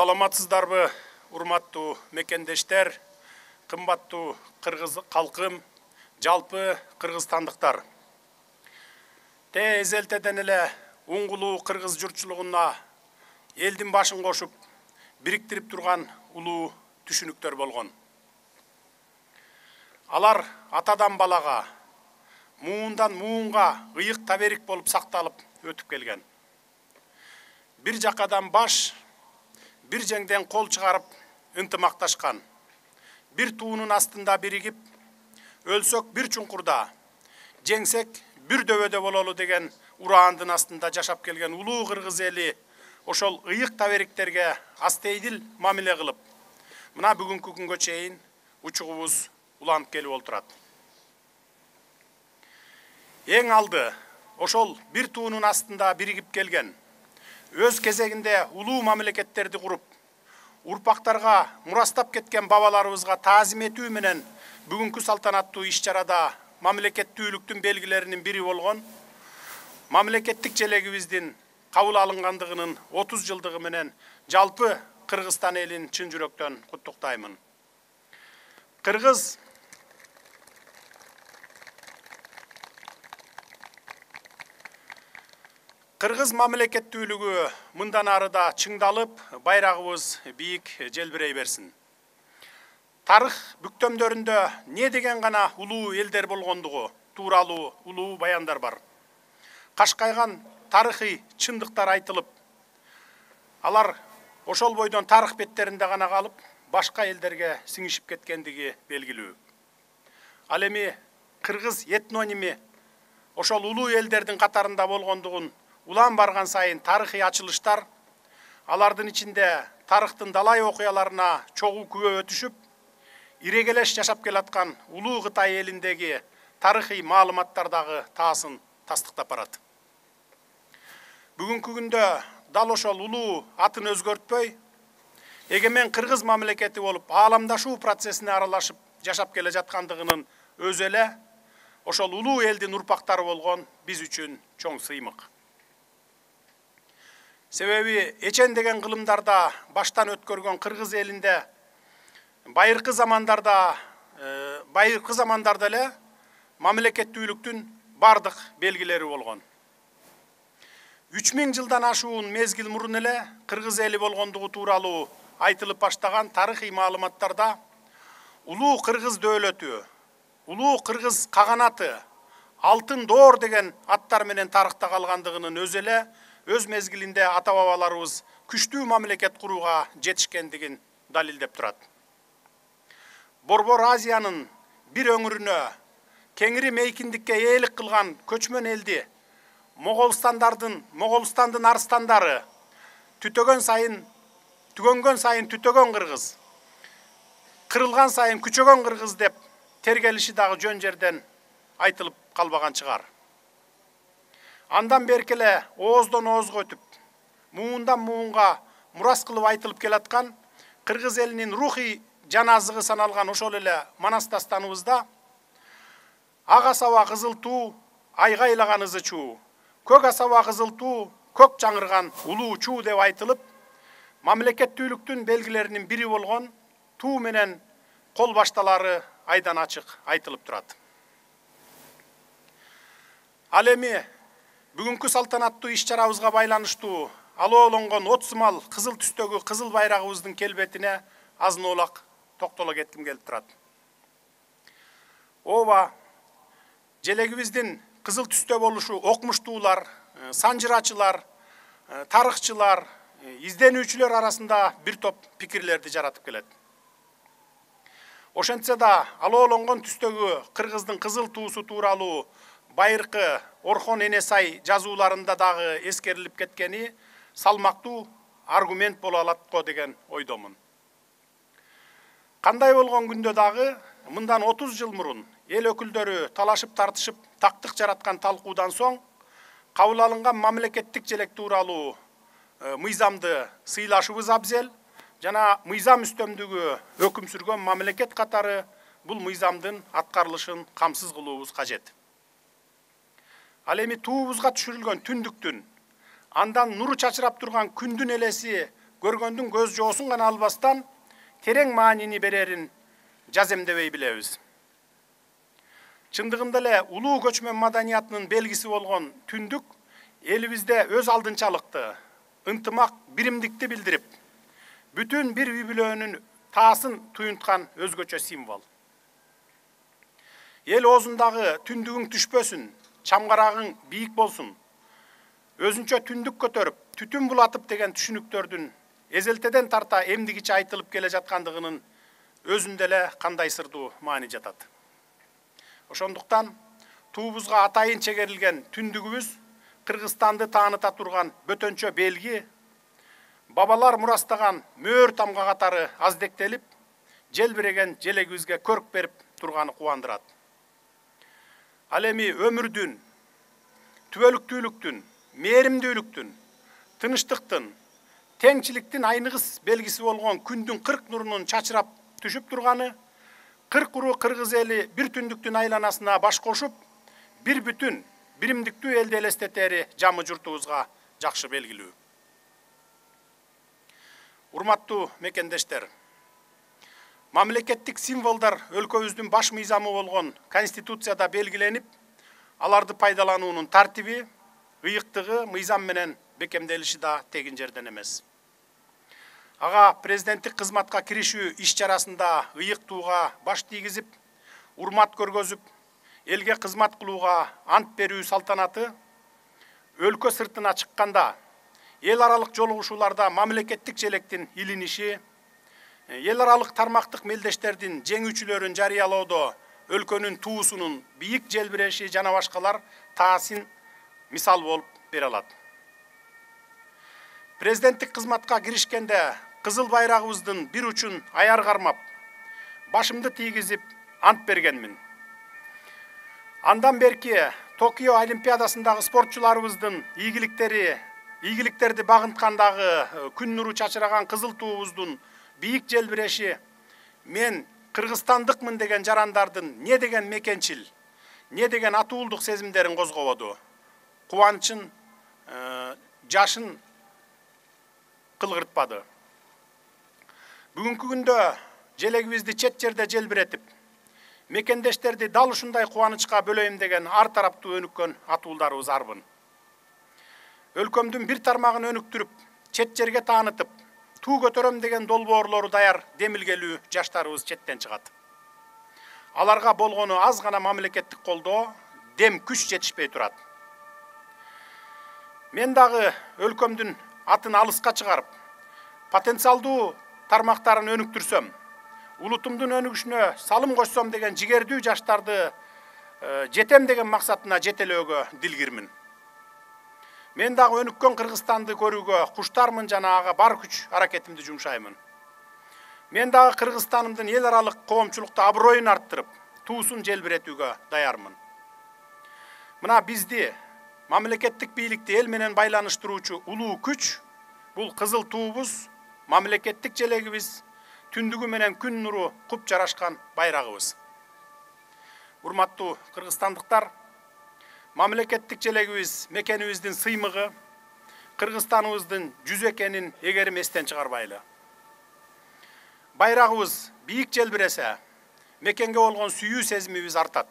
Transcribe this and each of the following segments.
Саламатсыздарбы, урматтуу мекендештер, кымбаттуу кыргыз калкым, жалпы кыргызстандыктар. Эзелтеден эле уңгулуу кыргыз журтчулугуна элдин башын кошуп, бириктирип турган улуу түшүнүктөр болгон. Алар атадан балага, муундан муунга ыйык таберик болуп сакталып өтүп келген. Бир жакадан баш, бир жеңден кол чыгарып ынтымакташкан. Бир туунун астында биригип, өлсөк бир чуңкурда, жеңсек бир дөбөдө бололу деген ураандын астында жашап келген улуу кыргыз эли ошол ыйык табериктерге астейдил мамиле кылып, мына бүгүнкү күнгө чейин учугубуз уланып келип олтурат. Эң алды ошол бир туунун астында биригип келген, өз кезегинде улуу мамлекеттерди куруп, урпактарга мурастап кеткен бабаларыбызга таазим этүү менен бүгүнкү салтанаттуу иш-чарада мамлекеттүүлүктүн белгилеринин бири болгон мамлекеттик желегибиздин кабыл алынгандыгынын 30 жылдыгы менен жалпы Кыргызстан элин чын жүрөктөн куттуктаймын. Кыргыз мамлекеттүүлүгү мындан арыда чыңдалып, байрагыбыз бийик желбирей берсин. Тарых бүктөмдөрүндө не деген гана улуу элдер болгондугу тууралуу улуу баяндар бар. Кашкайган тарыхый чындыктар айтылып, алар ошол бойдон тарых беттеринде гана калып, башка элдерге сиңишип кеткендиги белгилүү. Ал эми кыргыз этноними ошол улуу элдердин катарында болгондугун улам барган сайын тарыхый ачылыштар, алардын ичинде тарыхтын далай окуяларына чогуу күбө өтүшүп, ирегелеш жашап келаткан улуу Кытай элиндеги тарыхый маалыматтар дагы таасын тастыктап барат. Бүгүнкү күндө дал ошол улуу атын өзгөртпөй, эгемен кыргыз мамлекети болуп ааламдашуу процессине аралашып жашап келе жаткандыгынын өзү эле ошол улуу элдин урпактары болгон биз үчүн чоң сыймык. Себеби эчен деген кылымдарда баштан өткөргөн кыргыз элинде байыркы замандарда эле мамлекеттүүлүктүн бардык белгилери болгон. 3000 жылдан ашуун мезгил мурун эле кыргыз эли болгондугу тууралуу айтылып баштаган тарыхый маалыматтарда улуу кыргыз дөөлөтү, улуу кыргыз каганаты, алтын доор деген аттар менен тарыхта калгандыгынын өзү эле өз мезгилинде ата-бабаларыбыз күчтүү мамлекет курууга жетишкендигин далилдеп турат. Борбор Азиянын бир өңүрүнө кеңири мейкиндикке ээлик кылган көчмөн элди Моголстандын арстандары түгөнгөн сайын түтөгөн кыргыз, кырылган сайын күчөгөн кыргыз деп тергелиши дагы жөн жерден айтылып калбаган чыгар. Андан беркеле ооздон оозго өтүп, муундан муунга мурас кылып айтылып келаткан кыргыз элинин рухий жана азыгы саналган ошол эле Манас дастаныбызда ак асаба кызыл туу, айгайлаган ызы чуу, көк асаба кызыл туу, көк чаңырган улуу чуу деп айтылып, мамлекеттүүлүктүн белгилеринин бири болгон туу менен кол башталары айдан ачык айтылып турат. Ал эми бүгүнкү салтанаттуу иш-чарабызга байланыштуу алоолонгон от сымал кызыл түстөгү кызыл байрагыбыздын келбетине азын-оолак токтоло кетким келип турат. Ооба, желегибиздин кызыл түстө болушу окумуштуулар, санжырачылар, тарыхчылар, изденүүчүлөр арасында бир топ пикирлерди жаратып келет. Ошентсе да алоолонгон түстөгү кыргыздын кызыл туусу тууралуу байыркы Орхон Энесай жазууларында дагы эскерилип кеткени салмактуу аргумент боло алат го деген ойдомун. Кандай болгон күндө дагы мындан 30 жыл мурун эл өкүлдөрү талашып тартышып тактык жараткан талкуудан соң кабыл алынган мамлекеттик желек тууралуу мыйзамды сыйлашыбыз абзел жана мыйзам үстөмдүгү өкүм сүргөн мамлекет катары бул мыйзамдын аткарылышын камсыз кылуубуз кажет. Ал эми туубузга түшүрүлгөн түндүктүн, андан нуру чачырап турган күндүн элеси көргөндүн көз жоосун гана албастан терең маанини берерин жаземдебей билебиз. Чындыгында эле улуу көчмөн маданиятынын белгиси болгон түндүк элибизде өз алдынчалыкты, ынтымак, биримдикти билдирип, бүтүн бир үй бүлөнүн таасын туюнткан өзгөчө символ. Эл оозундагы түндүгүң түшпөсүн, чамгарагың бийик болсун, өзүнчө түндүк көтөрүп, түтүн булатып деген түшүнүктөрдүн эзелтеден тарта эмдигиче айтылып келе жаткандыгынын өзүндө эле кандай сырдуу маани жатат. Ошондуктан туубузга атайын чегерилген түндүгүбүз Кыргызстанды тааныта турган бөтөнчө белги, бабалар мурастаган мөөр тамга катары аздектелип, желбиреген желегибизге көрк берип турганы кубандырат. Ал эми өмүрдүн, түбөлүктүүлүктүн, мээримдүүлүктүн, тынычтыктын, теңчиликтин айныгыс белгиси болгон күндүн 40 нурунун чачырап түшүп турганы, 40 уру кыргыз эли бир түндүктүн айланасына баш кошуп, бир бүтүн, биримдиктүү элди элестетери жамы журтубузга жакшы белгилүү. Урматтуу мекендештер, мамлекеттик символдор өлкөбүздүн баш мыйзамы болгон Конституцияда белгиленип, аларды пайдалануунун тартиби, ыйыктыгы мыйзам менен бекемделиши да тегин жерден эмес. Ага президенттик кызматка киришүү иш-чарасында ыйыктууга баш тийгизип, урмат көргөзүп, элге кызмат кылууга ант берүү салтанаты өлкө сыртына чыкканда, эл аралык жолугушууларда мамлекеттик желектин илиниши, эл аралык тармактык мелдештердин жеңүүчүлөрүн жарыялоодо өлкөнүн туусунун бийик желбиреши жана башкалар таасын мисал болуп бере алат. Президенттик кызматка киришкенде кызыл байрагыбыздын бир учун аяр кармап, башымды тийгизип ант бергенмин. Андан берки Токио Олимпиадасындагы спортчуларыбыздын ийгиликтерди багынткандагы күн нуру чачыраган кызыл туубуздун бийик желбиреши мен кыргызстандыкмын деген жарандардын не деген мекенчил, не деген атуулдук сезимдерин козгободу, кубанычын, жашын кылгыртпады. Бүгүнкү күндө желегибизди чет жерде желбиретип, мекендештерди дал ушундай кубанычка бөлөйм деген ар тараптуу өнүккөн атуулдарыбыз арбын. Өлкөмдүн бир тармагын өнүктүрүп, чет жерге таанытып, туу көтөрөм деген долбоорлору даяр демилгелүү жаштарыбыз четтен чыгат. Аларга болгону аз гана мамлекеттик колдоо, дем күч жетишпей турат. Мен дагы өлкөмдүн атын алыска чыгарып, потенциалдуу тармактарын өнүктүрсөм, улутумдун өнүгүшүнө салым кошсом деген жигердүү жаштарды жетем деген максатына жетелөөгө дилгирмин. Мен дагы өнүккөн Кыргызстанды көрүүгө куштармын жана ага бар күч аракетимди жумшаймын. Мен дагы Кыргызстанымдын эл аралык коомчулукта аброюн арттырып, туусун желбиретүүгө даярмын. Мына бизди, мамлекеттик бийликти эл менен байланыштыруучу улуу күч бул кызыл туубуз, мамлекеттик желегибиз, түндүгү менен күн нуру куп жарашкан байрагыбыз. Урматтуу кыргызстандыктар, мамлекеттик желегибиз мекенибиздин сыймыгы, Кыргызстаныбыздын жүзү экенин эгерим эстен чыгарбайлы. Байрагыбыз бийик желбиресе, мекенге болгон сүйүү сезимибиз артат.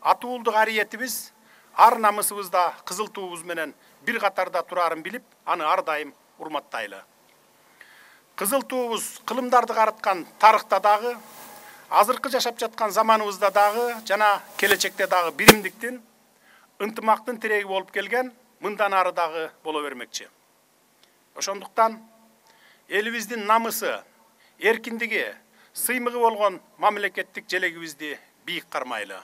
Атуулдук ариетибиз, ар намысыбызда кызыл туубуз менен бир катарда турарын билип, аны ар дайым урматтайлы. Кызыл туубуз кылымдарды карыткан тарыхта дагы, азыркы жашап жаткан заманыбызда дагы жана келечекте дагы биримдиктин, ынтымактын тиреги болуп келген, мындан ары дагы боло бермекчи. Ошондуктан элибиздин намысы, эркиндиги, сыймыгы болгон мамлекеттик желегибизди бийик кармайлы.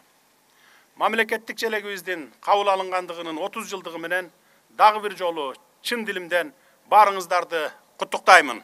Мамлекеттик желегибиздин кабыл алынгандыгынын 30 жылдыгы менен дагы бир жолу чын дилимден баарыңыздарды куттуктаймын.